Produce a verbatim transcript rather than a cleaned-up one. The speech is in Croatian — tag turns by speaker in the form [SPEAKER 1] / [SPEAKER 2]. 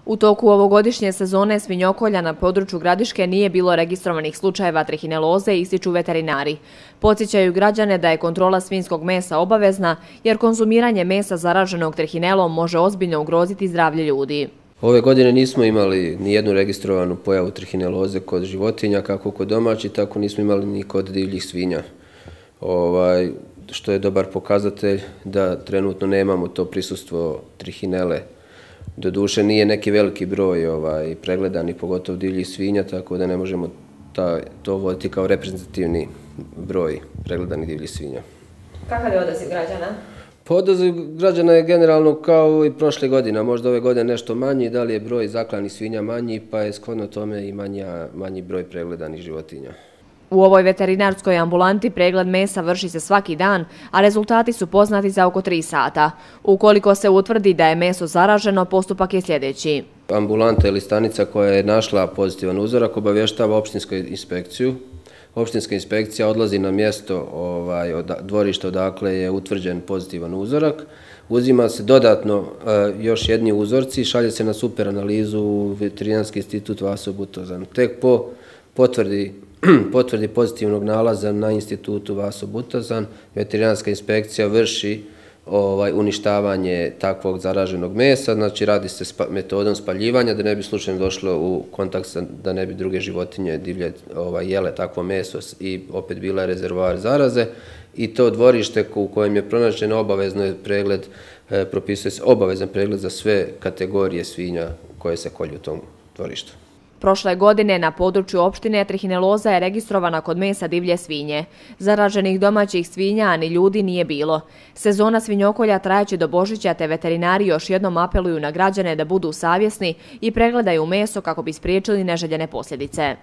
[SPEAKER 1] U toku ovogodišnje sezone svinjokolja na području Gradiške nije bilo registrovanih slučajeva trihineloze, ističu veterinari. Podsjećaju građane da je kontrola svinjskog mesa obavezna, jer konzumiranje mesa zaraženog trihinelom može ozbiljno ugroziti zdravlje ljudi.
[SPEAKER 2] Ove godine nismo imali ni jednu registrovanu pojavu trihineloze kod životinja, kako kod domaćih, tako nismo imali ni kod divljih svinja. Ovaj, što je dobar pokazatelj da trenutno nemamo to prisustvo trihinele. Doduše nije neki veliki broj ovaj, pregledanih, pogotovo divljih svinja, tako da ne možemo ta, to voditi kao reprezentativni broj pregledanih divljih svinja.
[SPEAKER 1] Kakav je odaziv građana?
[SPEAKER 2] Pa odaziv građana je generalno kao i prošle godine, možda ove godine nešto manji, da li je broj zaklanih svinja manji, pa je shodno tome i manja, manji broj pregledanih životinja.
[SPEAKER 1] U ovoj veterinarskoj ambulanti pregled mesa vrši se svaki dan, a rezultati su poznati za oko tri sata. Ukoliko se utvrdi da je meso zaraženo, postupak je sljedeći.
[SPEAKER 2] Ambulanta ili stanica koja je našla pozitivan uzorak obavještava opštinsku inspekciju. Opštinska inspekcija odlazi na mjesto ovaj, od, dvorišta odakle je utvrđen pozitivan uzorak. Uzima se dodatno e, još jedni uzorci, šalje se na super analizu u Veterinarski institut Vaso Butazan. Tek po potvrdi potvrdi pozitivnog nalaza na institutu Vaso Butazan, veterinarska inspekcija vrši ovaj, uništavanje takvog zaraženog mesa, znači radi se spa, metodom spaljivanja da ne bi slučajno došlo u kontakt sa, da ne bi druge životinje divlje ovaj, jele takvo meso i opet bila rezervoar zaraze. I to dvorište u kojem je pronađen obavezno je pregled, eh, propisuje se obavezan pregled za sve kategorije svinja koje se kolju u tom dvorištu.
[SPEAKER 1] Prošle godine na području opštine trihineloza je registrovana kod mesa divlje svinje. Zaraženih domaćih svinja, a ni ljudi nije bilo. Sezona svinjokolja trajaće do Božića, te veterinari još jednom apeluju na građane da budu savjesni i pregledaju meso kako bi spriječili neželjene posljedice.